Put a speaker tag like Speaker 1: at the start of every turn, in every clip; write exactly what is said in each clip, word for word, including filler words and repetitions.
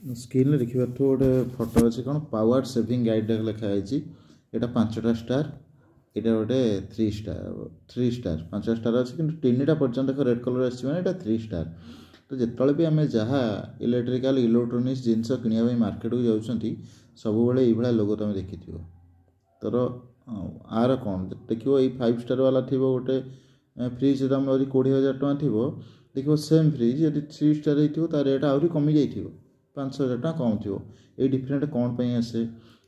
Speaker 1: ସ୍କ୍ରିନ୍ରେ ଦେଖିପାରୁଥିବ ଗୋଟେ ଫଟୋ ଅଛି କ'ଣ ପାୱାର ସେଭିଂ ଗାଇଡ଼ ଲେଖା ହେଇଛି ଏଇଟା ପାଞ୍ଚଟା ଷ୍ଟାର ଏଇଟା ଗୋଟେ ଥ୍ରୀ ଷ୍ଟାର ଥ୍ରୀ ଷ୍ଟାର ପାଞ୍ଚଟା ଷ୍ଟାର ଅଛି କିନ୍ତୁ ତିନିଟା ପର୍ଯ୍ୟନ୍ତ ଦେଖ ରେଡ଼୍ କଲର୍ ଆସିଛି ମାନେ ଏଇଟା ଥ୍ରୀ ଷ୍ଟାର ତ ଯେତେବେଳେ ବି ଆମେ ଯାହା ଇଲେକ୍ଟ୍ରିକାଲ ଇଲେକ୍ଟ୍ରୋନିକ୍ସ ଜିନିଷ କିଣିବା ପାଇଁ ମାର୍କେଟକୁ ଯାଉଛନ୍ତି ସବୁବେଳେ ଏଇଭଳିଆ ଲୋଗୋ ତୁମେ ଦେଖିଥିବ ତର ଆର କ'ଣ ଦେଖିବ ଏଇ ଫାଇଭ୍ ଷ୍ଟାର ବାଲା ଥିବ ଗୋଟେ ଫ୍ରିଜ୍ ଦାମ ଯଦି କୋଡ଼ିଏ ହଜାର ଟଙ୍କା ଥିବ ଦେଖିବ ସେମ୍ ଫ୍ରିଜ୍ ଯଦି ଥ୍ରୀ ଷ୍ଟାର ହେଇଥିବ ତା ରେଟ୍ ଆହୁରି କମିଯାଇଥିବ ପାଞ୍ଚ ହଜାର ଟଙ୍କା କମ୍ ଥିବ ଏଇ ଡିଫରେଣ୍ଟ କ'ଣ ପାଇଁ ଆସେ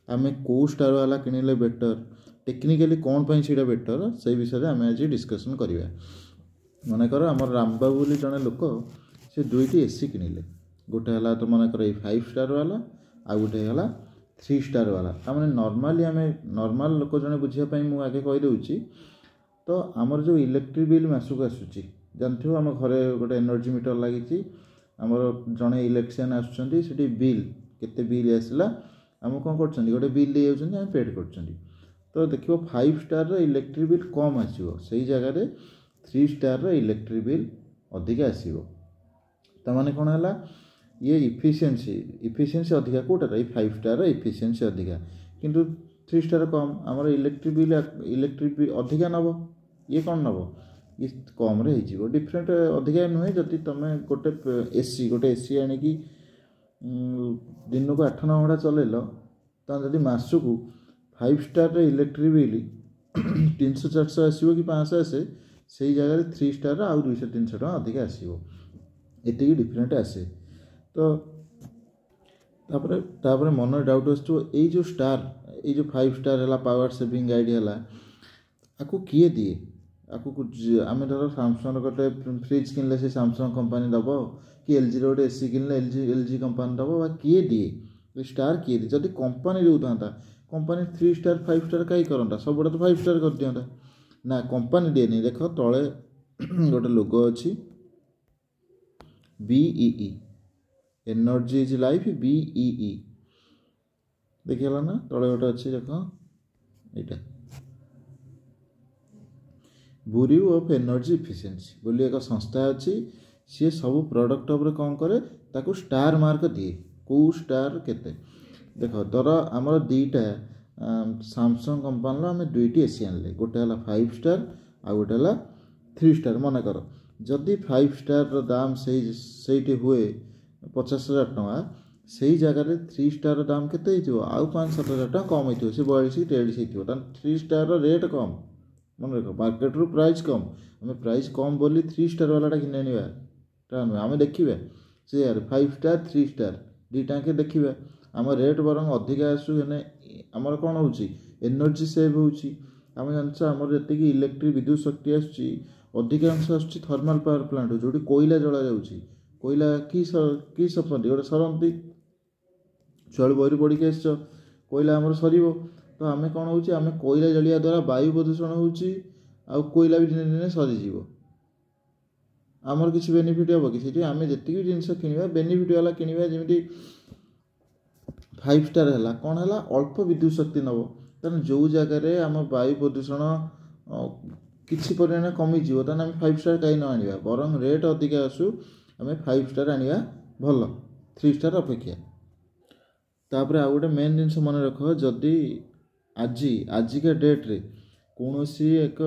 Speaker 1: ଆମେ କେଉଁ ଷ୍ଟାର ବାଲା କିଣିଲେ ବେଟର୍ ଟେକ୍ନିକାଲି କ'ଣ ପାଇଁ ସେଇଟା ବେଟର୍ ସେଇ ବିଷୟରେ ଆମେ ଆଜି ଡିସ୍କସନ୍ କରିବା ମନେକର ଆମର ରାମବାବୁ ବୋଲି ଜଣେ ଲୋକ ସେ ଦୁଇଟି ଏସି କିଣିଲେ ଗୋଟେ ହେଲା ତ ମନେକର ଏଇ ଫାଇଭ୍ ଷ୍ଟାର ବାଲା ଆଉ ଗୋଟେ ହେଇଗଲା ଥ୍ରୀ ଷ୍ଟାର ବାଲା ତାମାନେ ନର୍ମାଲି ଆମେ ନର୍ମାଲ ଲୋକ ଜଣେ ବୁଝିବା ପାଇଁ ମୁଁ ଆଗେ କହିଦେଉଛି ତ ଆମର ଯେଉଁ ଇଲେକ୍ଟ୍ରିକ୍ ବିଲ୍ ମାସକୁ ଆସୁଛି ଜାଣିଥିବ ଆମ ଘରେ ଗୋଟେ ଏନର୍ଜି ମିଟର ଲାଗିଛି ଆମର ଜଣେ ଇଲେକ୍ଟ୍ରିସିଆନ୍ ଆସୁଛନ୍ତି ସେଠି ବିଲ୍ କେତେ ବିଲ୍ ଆସିଲା ଆମକୁ କ'ଣ କରୁଛନ୍ତି ଗୋଟେ ବିଲ୍ ଦେଇଯାଉଛନ୍ତି ଆମେ ପେଡ଼୍ କରୁଛନ୍ତି ତ ଦେଖିବ ଫାଇଭ୍ ଷ୍ଟାରର ଇଲେକ୍ଟ୍ରିକ୍ ବିଲ୍ କମ୍ ଆସିବ ସେଇ ଜାଗାରେ ଥ୍ରୀ ଷ୍ଟାରର ଇଲେକ୍ଟ୍ରିକ୍ ବିଲ୍ ଅଧିକା ଆସିବ ତାମାନେ କ'ଣ ହେଲା ଇଏ ଇଫିସିଏନ୍ସି ଇଫିସିଏନ୍ସି ଅଧିକା କେଉଁଟାର ଏଇ ଫାଇଭ୍ ଷ୍ଟାରର ଇଫିସିଏନ୍ସି ଅଧିକା କିନ୍ତୁ ଥ୍ରୀ ଷ୍ଟାର କମ୍ ଆମର ଇଲେକ୍ଟ୍ରିକ୍ ବିଲ୍ ଇଲେକ୍ଟ୍ରିକ୍ ବିଲ୍ ଅଧିକା ନେବ ଇଏ କ'ଣ ନେବ ଇଏ କମ୍ରେ ହେଇଯିବ ଡିଫରେଣ୍ଟ ଅଧିକା ନୁହେଁ ଯଦି ତୁମେ ଗୋଟେ ଏସି ଗୋଟେ ଏସି ଆଣିକି ଦିନକୁ ଆଠ ନଅ ଘଣ୍ଟା ଚଲେଇଲ ତାହେଲେ ଯଦି ମାସକୁ ଫାଇଭ୍ ଷ୍ଟାରର ଇଲେକ୍ଟ୍ରିକ୍ ବିଲ୍ ତିନିଶହ ଚାରିଶହ ଆସିବ କି ପାଞ୍ଚଶହ ଆସେ ସେଇ ଜାଗାରେ ଥ୍ରୀ ଷ୍ଟାରର ଆଉ ଦୁଇଶହ ତିନିଶହ ଟଙ୍କା ଅଧିକା ଆସିବ ଏତିକି ଡିଫରେଣ୍ଟ ଆସେ ତ ତାପରେ ତାପରେ ମନରେ ଡାଉଟ୍ ଆସୁଥିବ ଏଇ ଯେଉଁ ଷ୍ଟାର ଏଇ ଯେଉଁ ଫାଇଭ୍ ଷ୍ଟାର ହେଲା ପାୱାର ସେଭିଂ ଗାଇଡ଼ ହେଲା ଆକୁ କିଏ ଦିଏ ଆକୁ ଆମେ ଧର ସାମସଙ୍ଗର ଗୋଟେ ଫ୍ରିଜ୍ କିଣିଲେ ସେ ସାମସଙ୍ଗ କମ୍ପାନୀ ଦେବ କି ଏଲ୍ଜିର ଗୋଟେ ଏସି କିଣିଲେ L G L G company ଦେବ ବା କିଏ ଦିଏ ଏ ଷ୍ଟାର କିଏ ଦିଏ ଯଦି company ଦେଉଥାନ୍ତା company three star five star କାହିଁ କରନ୍ତା ସବୁଗୁଡ଼ା ତ ଫାଇଭ୍ ଷ୍ଟାର କରିଦିଅନ୍ତା ନା କମ୍ପାନୀ ଦିଏନି ଦେଖ ତଳେ ଗୋଟେ ଲୋଗୋ ଅଛି BEE energy is life BEE ଦେଖିହେଲା ନା ତଳେ ଗୋଟେ ଅଛି ଦେଖ ଏଇଟା ବ୍ୟୁରୋ ଅଫ୍ ଏନର୍ଜି ଇଫିସିଏନ୍ସି ବୋଲି ଏକ ସଂସ୍ଥା ଅଛି ସିଏ ସବୁ ପ୍ରଡ଼କ୍ଟ ଉପରେ କ'ଣ କରେ ତାକୁ ଷ୍ଟାର ମାର୍କ ଦିଏ କେଉଁ ଷ୍ଟାର କେତେ ଦେଖ ଧର ଆମର ଦୁଇଟା ସାମସଙ୍ଗ କମ୍ପାନୀର ଆମେ ଦୁଇଟି ଏସି ଆଣିଲେ ଗୋଟେ ହେଲା ଫାଇଭ୍ ଷ୍ଟାର ଆଉ ଗୋଟେ ହେଲା ଥ୍ରୀ ଷ୍ଟାର ମନେକର ଯଦି ଫାଇଭ୍ ଷ୍ଟାରର ଦାମ ସେଇ ସେଇଠି ହୁଏ ପଚାଶ ହଜାର ଟଙ୍କା ସେଇ ଜାଗାରେ ଥ୍ରୀ ଷ୍ଟାରର ଦାମ କେତେ ହେଇଥିବ ଆଉ ପାଞ୍ଚ ସାତ ହଜାର ଟଙ୍କା କମ୍ ହେଇଥିବ ସେ ବୟାଳିଶ କି ତେୟାଳିଶ ହେଇଥିବ ତାହେଲେ ଥ୍ରୀ ଷ୍ଟାରର ରେଟ୍ କମ୍ ମନେ ରଖ ମାର୍କେଟରୁ ପ୍ରାଇସ୍ କମ୍ ଆମେ ପ୍ରାଇସ୍ କମ୍ ବୋଲି ଥ୍ରୀ ଷ୍ଟାର ବାଲାଟା କିଣି ଆଣିବା ତା ନୁହେଁ ଆମେ ଦେଖିବା ସେ ଜାଗାରେ ଫାଇଭ୍ ଷ୍ଟାର ଥ୍ରୀ ଷ୍ଟାର ଦୁଇଟାଙ୍କେ ଦେଖିବା ଆମ ରେଟ୍ ବରଂ ଅଧିକା ଆସୁ ହେଲେ ଆମର କ'ଣ ହେଉଛି ଏନର୍ଜି ସେଭ୍ ହେଉଛି ଆମେ ଜାଣିଛ ଆମର ଯେତିକି ଇଲେକ୍ଟ୍ରିକ୍ ବିଦ୍ୟୁତ ଶକ୍ତି ଆସୁଛି ଅଧିକାଂଶ ଆସୁଛି ଥର୍ମାଲ୍ ପାୱାର ପ୍ଲାଣ୍ଟ ଯେଉଁଠି କୋଇଲା ଜଳାଯାଉଛି କୋଇଲା କି କି ସମ୍ପତ୍ତି ଗୋଟେ ସରନ୍ତି ଛୁଆବେଳୁ ବହିରୁ ପଢ଼ିକି ଆସିଛ କୋଇଲା ଆମର ସରିବ ତ ଆମେ କ'ଣ ହେଉଛି ଆମେ କୋଇଲା ଜଳିବା ଦ୍ୱାରା ବାୟୁ ପ୍ରଦୂଷଣ ହେଉଛି ଆଉ କୋଇଲା ବି ଦିନେ ଦିନେ ସରିଯିବ ଆମର କିଛି ବେନିଫିଟ୍ ହେବ କି ସେଥିପାଇଁ ଆମେ ଯେତିକି ବି ଜିନିଷ କିଣିବା ବେନିଫିଟ୍ ବାଲା କିଣିବା ଯେମିତି ଫାଇଭ୍ ଷ୍ଟାର ହେଲା କ'ଣ ହେଲା ଅଳ୍ପ ବିଦ୍ୟୁତ ଶକ୍ତି ନେବ ତେଣୁ ଯେଉଁ ଜାଗାରେ ଆମ ବାୟୁ ପ୍ରଦୂଷଣ କିଛି ପରିମାଣରେ କମିଯିବ ତାହେଲେ ଆମେ ଫାଇଭ୍ ଷ୍ଟାର କାହିଁ ନ ଆଣିବା ବରଂ ରେଟ୍ ଅଧିକା ଆସୁ ଆମେ ଫାଇଭ୍ ଷ୍ଟାର ଆଣିବା ଭଲ ଥ୍ରୀ ଷ୍ଟାର ଅପେକ୍ଷା ତାପରେ ଆଉ ଗୋଟେ ମେନ୍ ଜିନିଷ ମନେ ରଖ ଯଦି ଆଜି ଆଜିକା ଡେଟ୍ରେ କୌଣସି ଏକ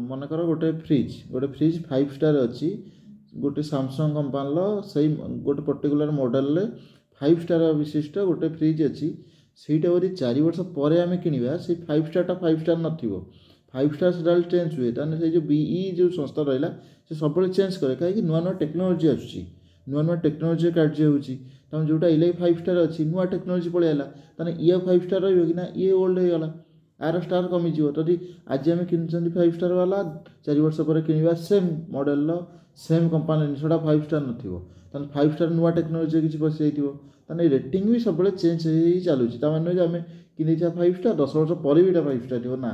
Speaker 1: ମନେକର ଗୋଟେ ଫ୍ରିଜ୍ ଗୋଟେ ଫ୍ରିଜ୍ ଫାଇଭ୍ ଷ୍ଟାର ଅଛି ଗୋଟେ ସାମସଙ୍ଗ କମ୍ପାନୀର ସେଇ ଗୋଟେ ପର୍ଟିକୁଲାର ମଡ଼େଲରେ ଫାଇଭ୍ ଷ୍ଟାର ବିଶିଷ୍ଟ ଗୋଟେ ଫ୍ରିଜ୍ ଅଛି ସେଇଟା ଯଦି ଚାରି ବର୍ଷ ପରେ ଆମେ କିଣିବା ସେଇ ଫାଇଭ୍ ଷ୍ଟାରଟା ଫାଇଭ୍ ଷ୍ଟାର ନଥିବ ଫାଇଭ୍ ଷ୍ଟାର ସଦାବେଳେ ଚେଞ୍ଜ ହୁଏ ତାହେଲେ ସେଇ ଯେଉଁ ବିଇ ଯେଉଁ ସଂସ୍ଥା ରହିଲା ସେ ସବୁବେଳେ ଚେଞ୍ଜ କରେ କାହିଁକି ନୂଆ ନୂଆ ଟେକ୍ନୋଲୋଜି ଆସୁଛି ନୂଆ ନୂଆ ଟେକ୍ନୋଲୋଜି କାର୍ଯ୍ୟ ହେଉଛି ତମେ ଯେଉଁଟା ଇଲେ ଫାଇଭ୍ ଷ୍ଟାର ଅଛି ନୂଆ ଟେକ୍ନୋଲୋଜି ପଳେଇ ଆସିଲା ତାହେଲେ ଇଏ ଫାଇଭ୍ ଷ୍ଟାର ରହିବ କି ନା ଇଏ ଓଲ୍ଡ ହେଇଗଲା ଆର ଷ୍ଟାର କମିଯିବ ଯଦି ଆଜି ଆମେ କିଣୁଛନ୍ତି ଫାଇଭ୍ ଷ୍ଟାର ବାଲା ଚାରି ବର୍ଷ ପରେ କିଣିବା ସେମ୍ ମଡ଼େଲର ସେମ୍ କମ୍ପାନୀ ଜିନିଷଟା ଫାଇଭ୍ ଷ୍ଟାର ନଥିବ ତାହେଲେ ଫାଇଭ୍ ଷ୍ଟାର ନୂଆ ଟେକ୍ନୋଲୋଜି କିଛି ପଶିଯାଇଥିବ ତାହେଲେ ରେଟିଂ ବି ସବୁବେଳେ ଚେଞ୍ଜ ହେଇ ଚାଲୁଛି ତା ମାନେ ନୁହେଁ ଯେ ଆମେ କିଣିଥିବା ଫାଇଭ୍ ଷ୍ଟାର ଦଶ ବର୍ଷ ପରେ ବି ଏଇଟା ଫାଇଭ୍ ଷ୍ଟାର ଥିବ ନା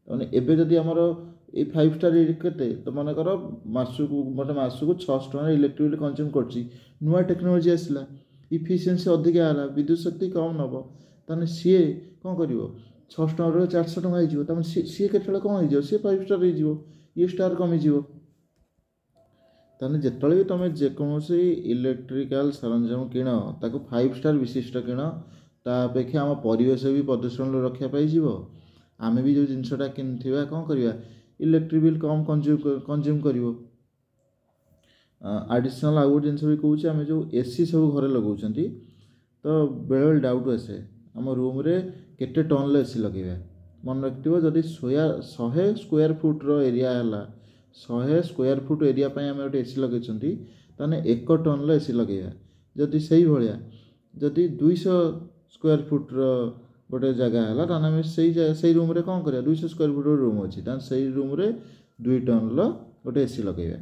Speaker 1: ମାନେ ଏବେ ଯଦି ଆମର ଏଇ ଫାଇଭ୍ ଷ୍ଟାର କେତେ ତ ମନେକର ମାସକୁ ଗୋଟେ ମାସକୁ ଛଅଶହ ଟଙ୍କାର ଇଲେକ୍ଟ୍ରିକ୍ ବିଲ୍ କନଜ୍ୟୁମ୍ କରୁଛି ନୂଆ ଟେକ୍ନୋଲୋଜି ଆସିଲା ଇଫିସିଏନ୍ସି ଅଧିକା ହେଲା ବିଦ୍ୟୁତ ଶକ୍ତି କମ୍ ନେବ ତାହେଲେ ସିଏ କ'ଣ କରିବ ଛଅଶହ ଟଙ୍କାରୁ ଚାରିଶହ ଟଙ୍କା ହେଇଯିବ ତାମାନେ ସିଏ ସିଏ କେତେବେଳେ କ'ଣ ହେଇଯିବ ସିଏ ଫାଇଭ୍ ଷ୍ଟାର ହେଇଯିବ ଇଏ ଷ୍ଟାର କମିଯିବ ତାହେଲେ ଯେତେବେଳେ ବି ତୁମେ ଯେକୌଣସି ଇଲେକ୍ଟ୍ରିକାଲ ସରଞ୍ଜାମ କିଣ, ତାକୁ ଫାଇଭ୍ ଷ୍ଟାର୍ ବିଶିଷ୍ଟ କିଣ। ତା ଅପେକ୍ଷା ଆମ ପରିବେଶ ବି ପ୍ରଦୂଷଣରୁ ରକ୍ଷା ପାଇଯିବ। ଆମେ ବି ଯେଉଁ ଜିନିଷଟା କିଣିଥିବା, କ'ଣ କରିବା, ଇଲେକ୍ଟ୍ରିକ୍ ବିଲ୍ କମ୍ କନଜ୍ୟୁମ୍ କନଜ୍ୟୁମ୍ କରିବ। ଆଡ଼ିସନାଲ୍ ଆଉ ଗୋଟେ ଜିନିଷ ବି କହୁଛି, ଆମେ ଯେଉଁ ଏ ସି ସବୁ ଘରେ ଲଗାଉଛନ୍ତି, ତ ବେଳେବେଳେ ଡାଉଟ୍ ଆସେ ଆମ ରୁମ୍ରେ କେତେ ଟନ୍ର ଏ ସି ଲଗାଇବା। ମନେ ରଖିଥିବ, ଯଦି ଶୋୟା ଶହେ ସ୍କୋୟାର ଫୁଟ୍ର ଏରିଆ ହେଲା, ଶହେ ସ୍କୋୟାର ଫୁଟ୍ ଏରିଆ ପାଇଁ ଆମେ ଗୋଟେ ଏ ସି ଲଗାଇଛନ୍ତି, ତାହେଲେ ଏକ ଟନ୍ର ଏ ସି ଲଗାଇବା। ଯଦି ସେଇଭଳିଆ ଯଦି ଦୁଇଶହ ସ୍କୋୟାର ଫୁଟ୍ର ଗୋଟେ ଜାଗା ହେଲା, ତାହେଲେ ଆମେ ସେଇ ସେଇ ରୁମ୍ରେ କ'ଣ କରିବା? ଦୁଇଶହ ସ୍କୋୟାର ଫୁଟ୍ର ରୁମ୍ ଅଛି, ତାହେଲେ ସେଇ ରୁମ୍ରେ ଦୁଇ ଟନ୍ର ଗୋଟେ ଏ ସି ଲଗାଇବା।